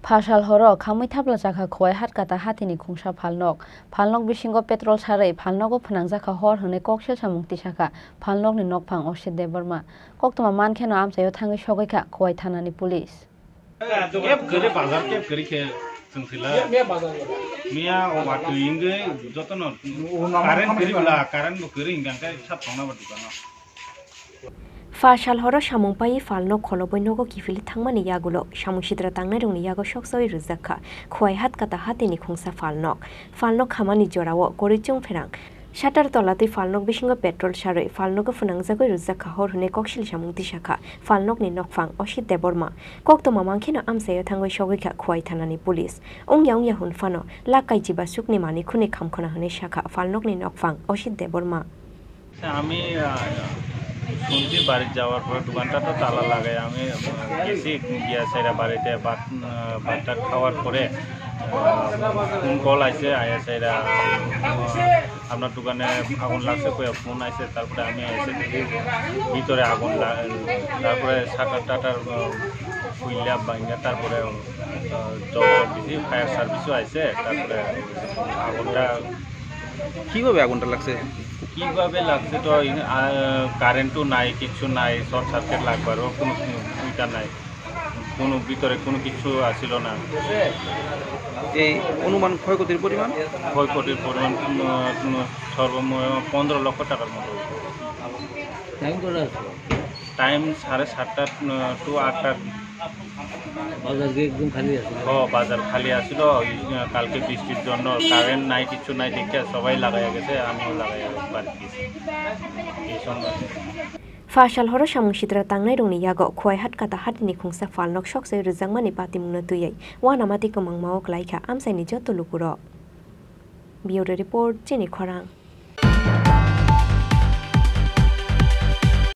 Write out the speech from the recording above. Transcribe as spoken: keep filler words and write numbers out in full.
Phasal horo khamwi thapla chakha Khowai Hatkata hatini khungsa phalnok. Phalnok bisingo petrol sarwi phalnogo phwnangjakha hor hwnwi koksil samung tisakha phalnokni nokphang Osit Debbarma. Koktwma mankheno amchaio thangwi sogwikha Khowai thanani police. Kep kwrwi bazar, kep kwrwi khe chwng sila. Miya o watwi wngwi jotono current kwrwi bwla, current bo kwrwi hwnkhe sat tongna ba dukano. Phasal horo samung paiwi phalnok kholobwi nogo kiphilwi thangmani yagulo samung sitra tangnairokni yago soksawi rwjakha Khowai Hatkata hatini khungsa phalnok. Phalnok khamani jorao kwrwi chwng pherang. Shutter tolatwi phalnok bisingo petrol sarwi phalnogo phwnangjagwi rwjakha hor hwnwi koksil samung tisakha phalnokni nokphang Osit Debbarma. Koktwma mankheno amchaio thangwi sogwikha Khowai thanani police. Wngya wngya hwn phano lakh kaijibasukni manwi khwnwi khamkhwna hwnwi sakha phalnokni nokphang Osit Debbarma. আমি, আহ, শুনছি বাড়ির যাওয়ার পরে দোকানটা তো তালা লাগাই। আমি, আহ, গেছি গিয়া সাইরা বাড়িতে ভাত, আহ, ভাতটা খাওয়ার পরে, আহ, ফোন কল আইছে, আয়া সাইরা, আহ, আপনার দোকানে আগুন লাগছে কইয়া ফোন আইছে। তারপরে আমি এসে দেখি ভিতরে আগুন লা-, তারপরে শাটার টাটার, আহ, খুইলা ভাঙ্গা, তারপরে, আহ, জল দিছি, ফায়ার সার্ভিসও আইছে। তারপরে আগুনটা কিভাবে আগুনটা লাগছে? কিভাবে লাগছে তো, আহ, কারেন্টও নাই, কিচ্ছু নাই, শর্ট সার্কিট লাগবারও কোনো, কোনো ইটা নাই, কোনো ভিতরে কোনো কিছু আসিল না। এই অনুমান ক্ষয়ক্ষতির পরিমাণ? ক্ষয়ক্ষতির পরিমাণ, উম, উম, সর্বমোট পনেরো লক্ষ টাকার মতো। টাইম কটা আছে? টাইম সাড়ে সাতটা, উম, টু আটটা। বাজার কি একদম খালি আছে? ও, বাজার খালি আছিল। ওই, আহ, কালকে বৃষ্টির জন্য কারেন্ট নাই, কিচ্ছু নাই, দেখে সবাই লাগাইয়া গেছে, আমিও লাগাইয়া বাড়ি গেছি। এই সময় Phasal horo samung sitra tangnairokni yago Khowai Hatkata hatini khungsa phalnok soksawi rwjakmani patimungno twiwi uanamati kwmangmao kwlaikha amchaini joto lukurok. Bureau Report, Chini Khorang.